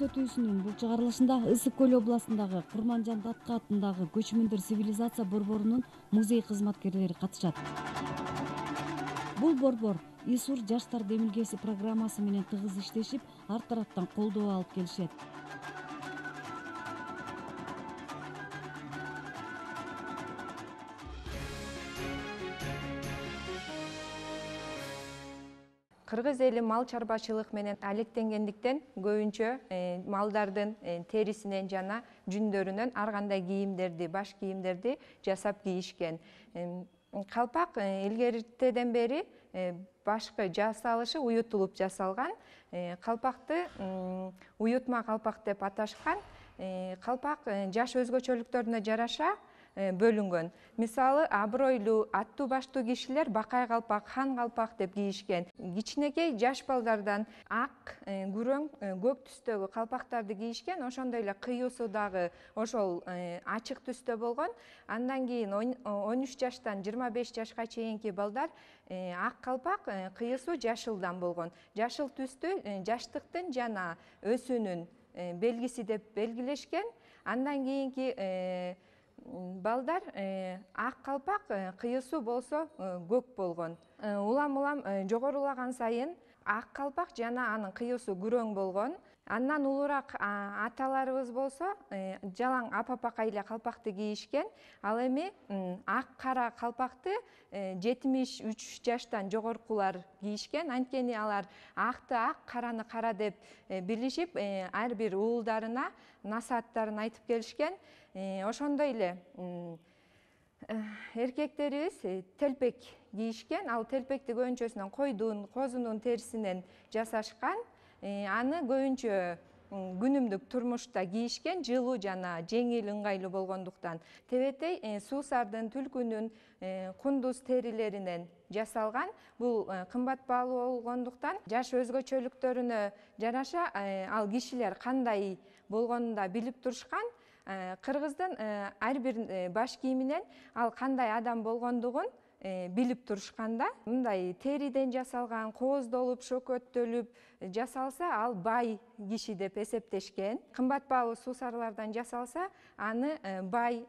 көрсөтүүсүнүн бул чыгарылышында Ысык Көл областындагы Курманжан Датка атындагы көчмөндөр цивилизация борборунун музей кызматкерлери катышат. Бул борбор ИСУР жаштар демилгеси программасы менен тыгыз иштешип, ар тараптан колдоо алып келишет. Кыргыз эли мал чарбачылык менен алектенгендиктен көбүнчө малдардын терисинен жана жүндөрүнөн ар кандай кийимдерди, баш кийимдерди жасап кийишкен. Калпак илгертеден бери башкы жасалышы уютулуп жасалган. Калпакты уютма калпак деп аташкан. Калпак жаш өзгөчөлүктөрүнө жараша бөлүнгөн. Мисалы, абройлуу, аттуу баштуу кишилер бакай калпак, хан калпак деп кийишкен. Кичинекей жаш балдардан ак, күрөң, көк түстөгү калпактарды кийишкен. Ошондой эле кыюусу дагы ошол ачык түстө болгон. Андан кийин 13 жаштан 25 жашка чейинки балдар ак калпак, кыюусу жашылдан болгон. Жашыл түстү жаштыктын жана өсүүнүн белгиси деп белгилешкен. Андан кийинки балдар ак калпак, кыюусу болсо көк болгон. Улам жогорулаган сайын ак калпак жана анын кыюусу күрөң болгон. Андан улураак аталарыбыз болсо жалаң апапакай эле калпакты кийишкен. Ал эми ак кара калпакты 73 жаштан жогоркулар кийишкен. Анткени алар акты ак, караны кара деп билишип, ар бир уулдарына насааттарын айтып келишкен. Ошондой эле эркектерибиз телпек кийишкен. Ал телпекти көбүнчөсүнөн койдун, козунун терисинен жасашкан. Аны көбүнчө күнүмдүк турмушта кийишкен, жылуу жана жеңил, ыңгайлуу болгондуктан. Тебетей суусардын, түлкүнүн, кундуз терилеринен жасалган. Бул кымбат баалуу болгондуктан жаш өзгөчөлүктөрүнө жараша ал кишилер кандай болгонун да билип турушкан. Кыргыздын ар бир баш кийиминен ал кандай адам болгондугун билип турушкан да. Мындай териден жасалган, кооздолуп, шөкөттөлүп жасалса, ал бай киши деп эсептешкен. Кымбат баалуу суусарлардан жасалса, аны бай,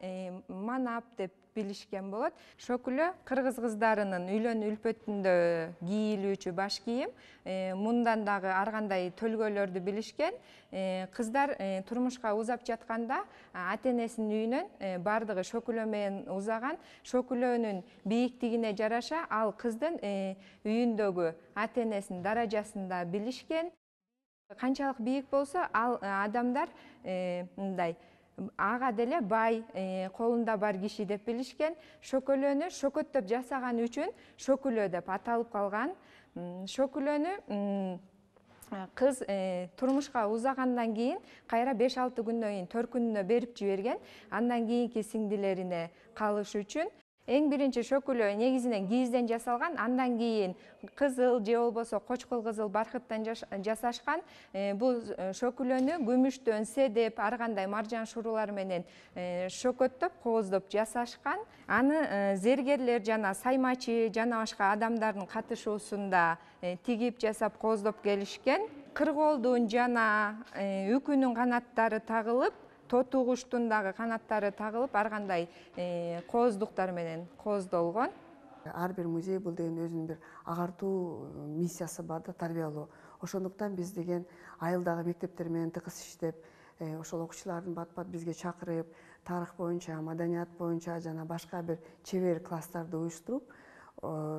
манап деп билишкен болот. Шөкүлө кыргыз кыздарынын үйлөнүү үлпөтүндө кийилүүчү баш кийим. Мындан дагы ар кандай төлгөлөрдү билишкен. Кыздар турмушка узап жатканда ата-энесинин үйүнөн бардыгы шөкүлө менен узаган. Шөкүлөнүн бийиктигине жараша ал кыздын үйүндөгү ата-энесинин даражасын да билишкен. Канчалык бийик болсо, ал адамдар мындай ага деле бай, колунда бар киши деп билишкен. Шөкөлөнү шөкөттөп жасаган үчүн шөкүлө деп аталып калган. Шөкүлөнү кыз турмушка узагандан кийин кайра 5-6 күндөн кийин төркүнүнө берип жиберген. Андан кийинки сиңдилерине калыш үчүн. Эң биринчи шөкүлө негизинен кийизден жасалган, андан кийин кызыл же болбосо кочкул кызыл бархыттан жасашкан. Бул шөкүлөнү күмүштөн, седеп, ар кандай маржан шурулар менен шөкөттөп, кооздоп жасашкан. Аны зергерлер жана саймачы жана башка адамдардын катышуусунда тигип жасап кооздоп келишкен. Кыргоолдун жана үкүнүн канаттары тагылып, тоту куштун дагы канаттары тагылып, ар кандай кооздуктар менен кооздолгон. Ар бир музей бул деген өзүнүн бир агартуу миссиясы бар да, тарбиялоо. Ошондуктан биз деген айылдагы мектептер менен тыгыз иштеп, ошол окуучулардын бат-бат бизге чакырып, тарых боюнча, маданият боюнча жана башка бир чебер класстарды уюштуруп,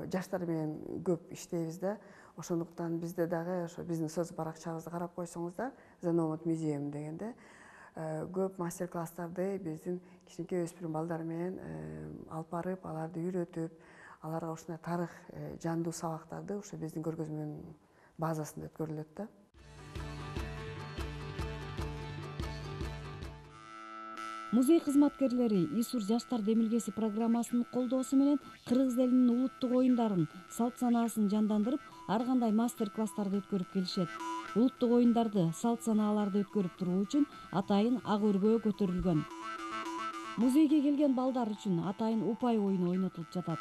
жаштар менен көп иштейбиз да. Ошондуктан бизде дагы ошо биздин соц баракчабызды карап койсоңуздар, Заномат музейм дегенде көп мастер-класстарды биздин кичинекей өспүрүм балдар менен алып барып, аларды үйрөтүп, аларга ушундай тарых жандуу сабактарды ушу биздин көргөзмөнүн базасында өткөрүлөт да. Музей кызматкерлери ИСУР жаштар демилгеси программасынын колдоосу менен кыргыз элинин улуттук оюндарын, салт санаасын жандандырып, ар кандай мастер-класстарды өткөрүп келишет. Улуттук оюндарды, салт санааларды өткөрүп туруу үчүн атайын ак өргөө көтөрүлгөн. Музейге келген балдар үчүн атайын упай оюну ойнотулуп жатат.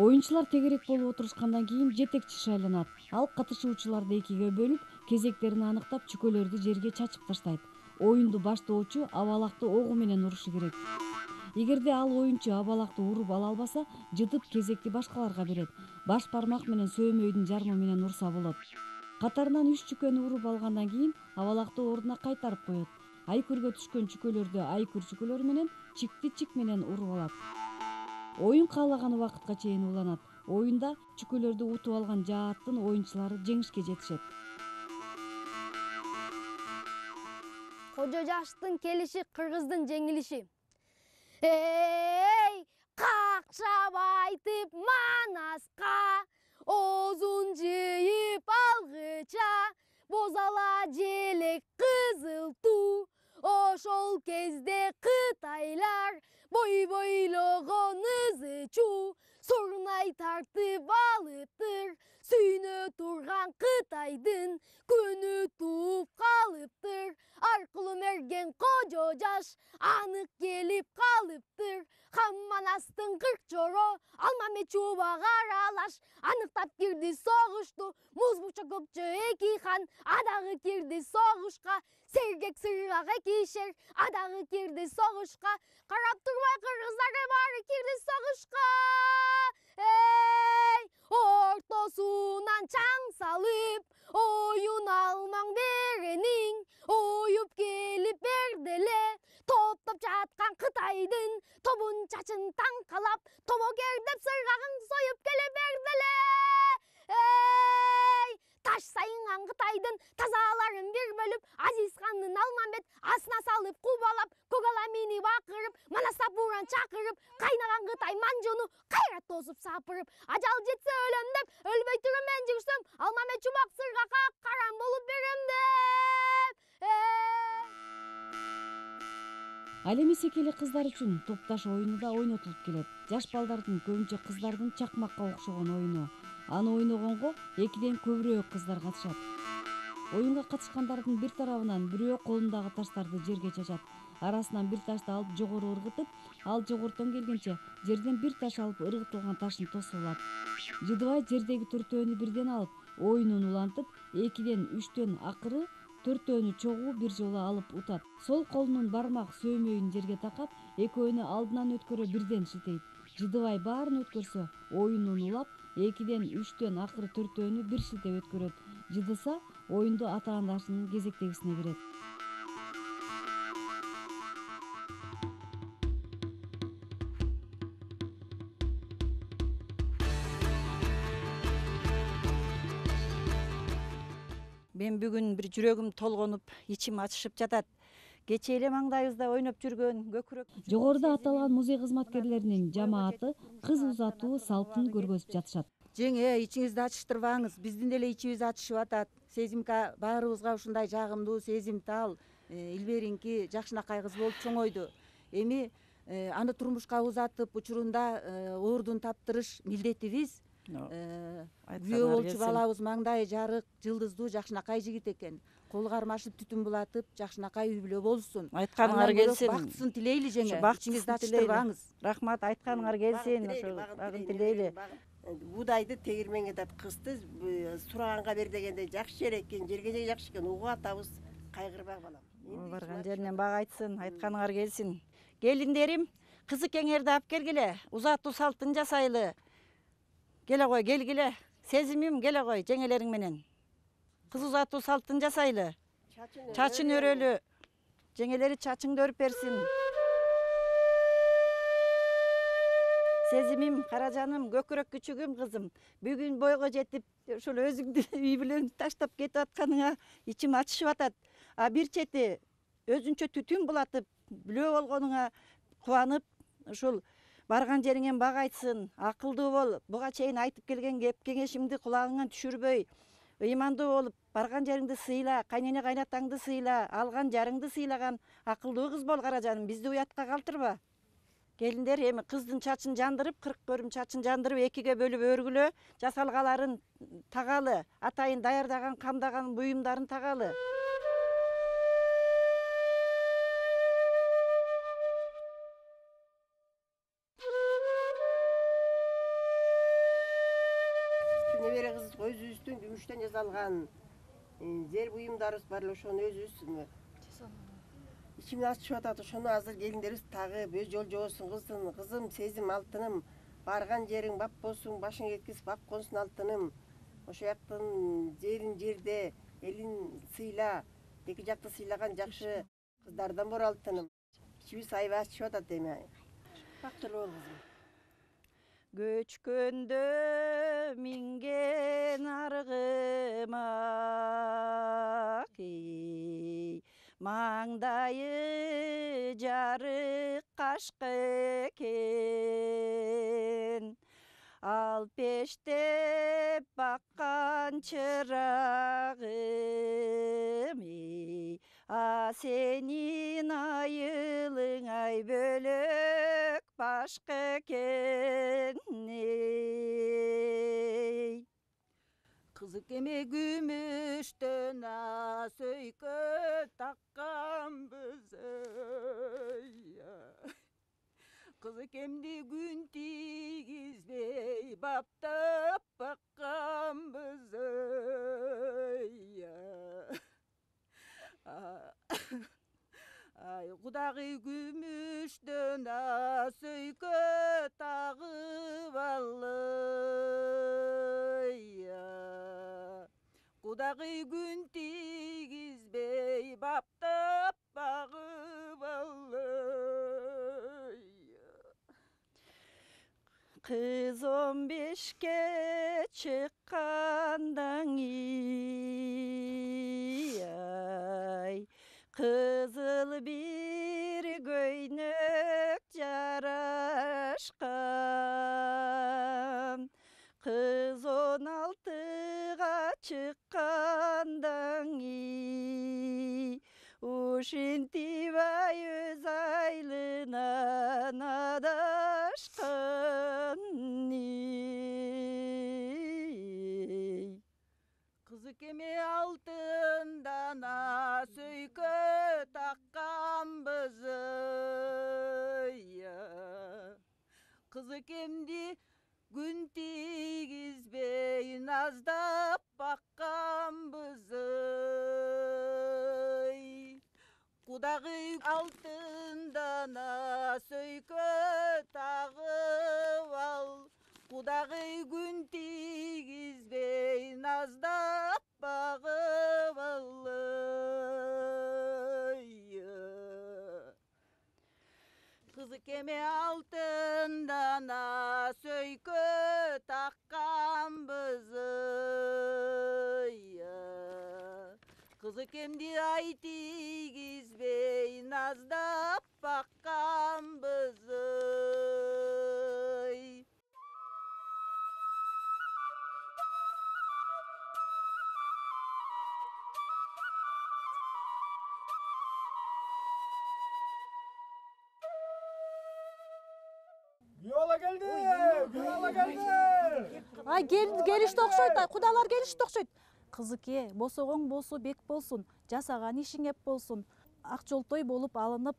Оюнчулар тегерек болуп отурушкандан кийин жетекчи шайланат. Ал катышуучуларды экиге бөлүп, кезектерин аныктап, чүкөлөрдү жерге чачып таштайт. Оюнду баштоочу абалакты огу менен урушу керек. Эгерде ал оюнчу абалакты уруп ала албаса, жытып кезекти башкаларга берет. Баш бармак менен сөөмөйдүн жармы менен урса болот. Катарынан 3 чүкөнү уруп алгандан кийин абалакты ордуна кайтарып коет. Айкүргө түшкөн чүкөлөрдү айкүр чүкөлөр менен, чикти чик менен уруп алат. Оюн каалаган убакытка чейин уланат. Оюнда чүкөлөрдү утуп алган жааттын оюнчулары жеңишке жетишет. Кожо жаштын келиши кыргыздын жеңилиши. Эй, какшап айтып Манаска, оозун жыйып алгыча, бозала желек кызыл туу. Ошол кезде кытайлар бой бойлогон ызы чуу. Сурнай тартып алыптыр, сүйнө турган Кытайдын күнү тууп калыптыр. Аркылуу мерген кожо жаш анык келип калыптыр. Манастын 40 жоро Алмамет чубак аралаш аныктап кирди согушту. Муз бучок көпчө эки хан адагы кирди согушка. Сергек сыргак эки шер адагы кирди согушка. Карап турбай кыргыздар баары кирди согушка. Эй, ортосунан чаң салып, оюн алмаң беренин, оюп келип берделе. Топтоп жаткан Кытайдын тобун чачын таңкалап, тобокер деп сыргагын союп келе берделе. Эй, таш сайынган Кытайдын тазаларын бир бөлүп, Азиз хандын Алмамет асына салып кубалап, көк ала минип акырып, Манаста бууран чакырып, кайнаган Кытай манжуну кайра тосуп сапырып, ажал жетсе өлөм деп, өлбөй туруп мен жүрсөм, Алмамет чубак сыргакка карам болуп берем деп. Ал эми секели кыздар үчүн топташ оюну да ойнотулуп келет. Жаш балдардын, көбүнчө кыздардын чакмакка окшогон оюну. Аны ойногонго 2ден көбүрөөк кыздар катышат. Оюнга катышкандардын бир тарабынан бирөө колундагы таштарды жерге чачат. Арасынан бир ташты алып жогору ыргытып, ал жогорудон келгенче жерден бир таш алып ыргытылган ташын тосуп алат. Жыдыбай жердеги төртөөнү бирден алып, оюнун улантып, 2ден 3төн акыры төртөөнү чогуу бир жолу алып утат. Сол колунун бармак сөөмөйүн жерге такап, экөөнү алдынан өткөрө бирден шилтейт. Жыдыбай баарын өткөрсө, оюнун улап, 2ден 3төн акыры төртөөнү бир шилтеп өткөрөт. Жыдыса, оюнду атаандашынын кезектегисине берет. Мен бүгүн бир жүрөгүм толгонуп, ичим ачышып жатат. Кечээ эле маңдайыбызда ойноп жүргөн көкүрөк. Жогоруда аталган музей кызматкерлеринин жамааты кыз узатуу салтын көргөзүп жатышат. Жеңе, ичиңизди ачыштырбаңыз. Биздин деле ичибиз ачышып атат. Сезимка баарыбызга ушундай жагымдуу, сезимтал, илберинки жакшынакай кыз болуп чоңойду. Эми аны турмушка узатып, учурунда ордун таптырыш милдетибиз. Күйөө болчу балабыз маңдайы жарык, жылдыздуу жакшынакай жигит экен. Кол кармашып, түтүн булатып, жакшынакай үй бүлө болсун. Айтканыңар келсин. Бактысын тилейли жеңе. Ичиңизди ачыштырбаңыз. Рахмат, айтканыңар келсин. Ошо багын тилейли. Будайды тегирменге дат кысты, сураганга бер дегенде жакшы жер экен, жерге жакшы экен, угуп атабыз, кайгырбай балам. Барган жеринен бак айтсын, айтканыңар келсин. Келиндерим, кызыкеңерди алып келгиле, узатуу салтын жасайлы. Келе кой, келгиле. Сезимим келе кой жеңелериң менен. Кыз узатуу салтын жасайлы. Чачын өрөлү. Жеңелери чачыңды өрүп берсин. Сезимим, каражаным, көкүрөк күчүгүм кызым. Бүгүн бойго жетип, ошол өзүңдү үй бүлөң таштап кетип атканыңа ичим ачышып атат. А бир чети өзүнчө түтүн булатып, бүлөө болгонуңа кубанып, ушул барган жериңен бак айтсын, акылдуу бол. Буга чейин айтып келген кеп кеңешимди кулагыңан түшүрбөй, ыймандуу болуп, барган жериңди сыйла, кайнене кайнатаңды сыйла, алган жарыңды сыйлаган акылдуу кыз бол каражаным, бизди уятка калтырба. Келиндер, эми кыздын чачын жандырып, 40 көрүм чачын жандырып, 2ге бөлүп өргүлө, жасалгаларын тагалы, атайын даярдаган, камдаган буюмдарын тагалы. небере кыз өзүбүздүн күмүштөн жасалган зер буюмдарыбыз бар эле, ошону өзүбүз ичиме ачышып атат. Ошону азыр келиндерибиз тагып, өз жол жобосун кыздын. Кызым, Сезим алтыным, барган жериң бап болсун, башың эткиз бап консун алтыным. Ошол жактын жерин жерде, элин сыйла, эки жакты сыйлаган жакшы кыздардан бор алтыным. İçimiz aybay açışıp atat deme. Baktırlı ol kızım. Göçkөндө минген аргыма маңдайы жарык кашка экен, ал пештеп баккан чырагым, сенин айылың ай бөлөк башка экен. Кызык эме күмүштөн сөйкө такканбыз, кызык эмди күн тийгизбей баптап бакканбыз. Кудагый күмүштөн сөйкө тагып алды, кудагый күн тийгизбей баптап багып алды. Кыз 15ке чыккандан кызыл бир көйнөк жарашкан, кыз 16га чыккандан ушинтип ай өз айылынан адашкан. Кызык эме алтындан сөйкө такканбыз, кызык эмди күн тийгизбей наздап бакканбыз. Кудагый алтындан сөйкө тагып ал, кудагый күн тийгизбей наздап багып алды. Кызык эме алтындан сөйкө такканбыз, кызык эмди ай тийгизбей наздап бакканбыз. Yola geldi. Yola geldi. Ай келишти окшойт, кудалар келишти окшойт. Кызыке, босогоң болсо бек болсун, жасаган ишиң эп болсун, ак жолтой болуп алынып,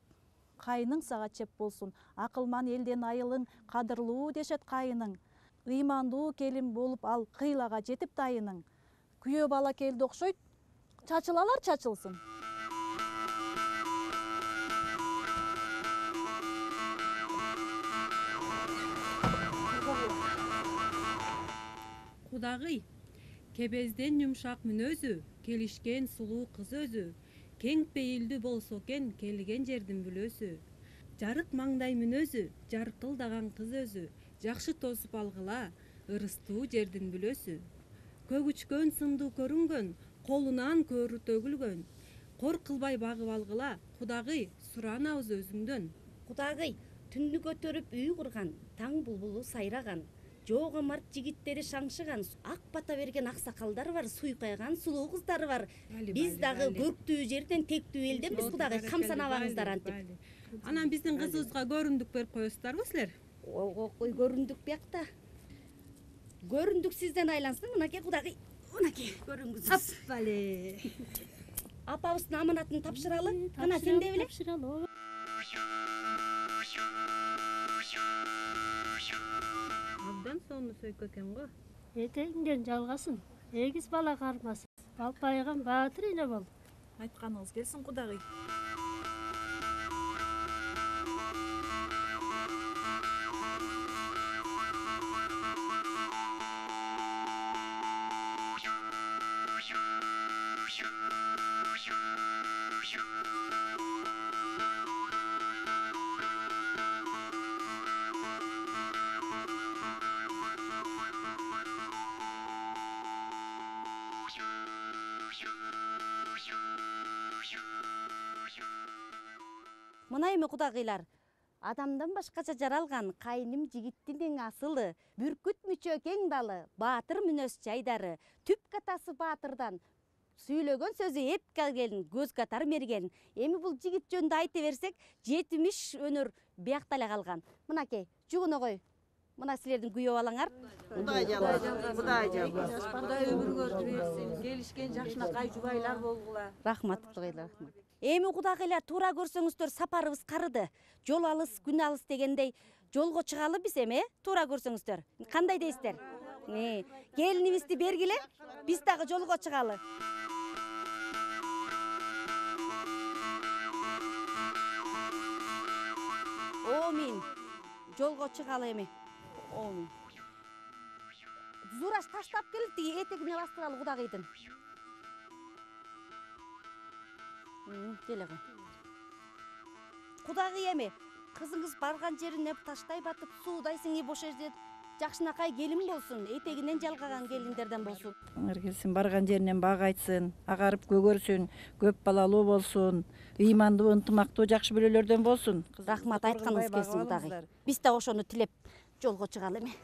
кайының сага чеп болсун. Акылман элден айылың кадырлуу дешет кайының. Ыймандуу келин болуп ал кыйлага жетип дайының. Күйөө бала келди окшойт, чачылалар чачылсын. Кудагый, кебезден жумшак мүнөзү, келишкен сулуу кыз өзү, кең пейилдүү болсо экен келген жердин бүлөсү. Жарык маңдай мүнөзү, жаркылдаган кыз өзү, жакшы тосуп алгыла, ырыстуу жердин бүлөсү. Көгүчкөн сындуу көрүнгөн, колунан көрү төгүлгөн. Кор кылбай багып алгыла, кудагый, суранабыз өзүңдөн. Кудагый, түндү көтөрүп үй курган, таң булбулу сайраган, жоого март жигиттери шаңшыган, ак бата берген аксакалдар бар, суйкайган сулуу кыздар бар. Биз дагы көктүү жерден тектүү элденбиз, кудагый, камсанабаңыздар антип. Анан биздин кызыбызга көрүндүк берип коесуздарбы силер? Ой, көрүндүк биякта. Көрүндүк сизден айлансын, мынакей кудагый, мынакей көрүнгүзүз. Аппале. Апабыздын аманатын тапшыралы, кана сен де биле. Абдан сонун сөйкө экен го. Этегиңден жалгасын, эгиз бала кармасын. Балпайган баатыр эне бол. Айтканыңыз келсин кудагый. Мына эми кудагыйлар, адамдан башкача жаралган кайным жигиттин эң асылы, бүркүт мүчө кең далы, баатыр мүнөз жайдары, түп катасы баатырдан, сүйлөгөн сөзү эпке келин, көз катар мерген. Эми бул жигит жөнүндө айта берсек, 70 өнөр биякта эле калган. Мынакей, жугуногой. Мына силердин күйөө балаңар. Кудай жалгасın, Кудай жалгасın. Кудай өмүрүңөрдү берсин. Келишкен жакшынакай жубайлар болгула. Рахмат, Кудайга рахмат. Эми кудагыйлар туура көрсөңүздөр сапарыбыз карыды. Жол алыс, күн алыс дегендей жолго чыгалы биз эми, туура көрсөңүздөр. Кандай дейсиздер? Келинибизди бергиле, биз дагы жолго чыгалы. Омин. Жолго чыгалы эми. Омин. Зураш таштап келип, тиги этегине бастыралы кудагыйдын. Келе кой. Кудагый эми, кызыңыз барган жерине таштай батып, суудай сиңи бош жерде жакшынакай келин болсун, этегинен жалгаган келиндерден болсун. Келсин, барган жеринен бак айтсын, агарып көгөрсүн, көп балалуу болсун, ыймандуу, ынтымактуу, жакшы бөлөлөрдөн болсун. Рахмат, айтканыңыз келсин кудагый. Биз да ошону тилеп жолго чыгалы эми.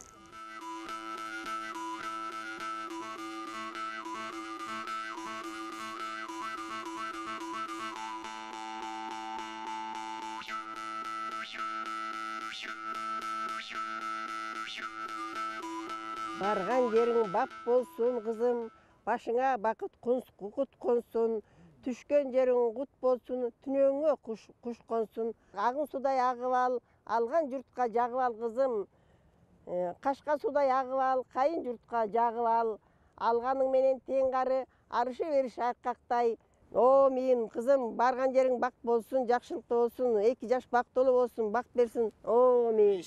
Барган жериң бак болсун, кызым, башыңа бакыт кукут консун, түшкөн жериң кут болсун, түнөңө куш консун. Агын судай агып ал, алган журтка жагып ал, кызым. Кашка судай агып ал, кайын журтка жагып ал. Алганың менен тең кары, арышы бериш айкактай. О, мен кызым, барган жериң бак болсун, жакшылыктуу болсун, 2 жаш бактылуу болсун, бак берсин. О, мен.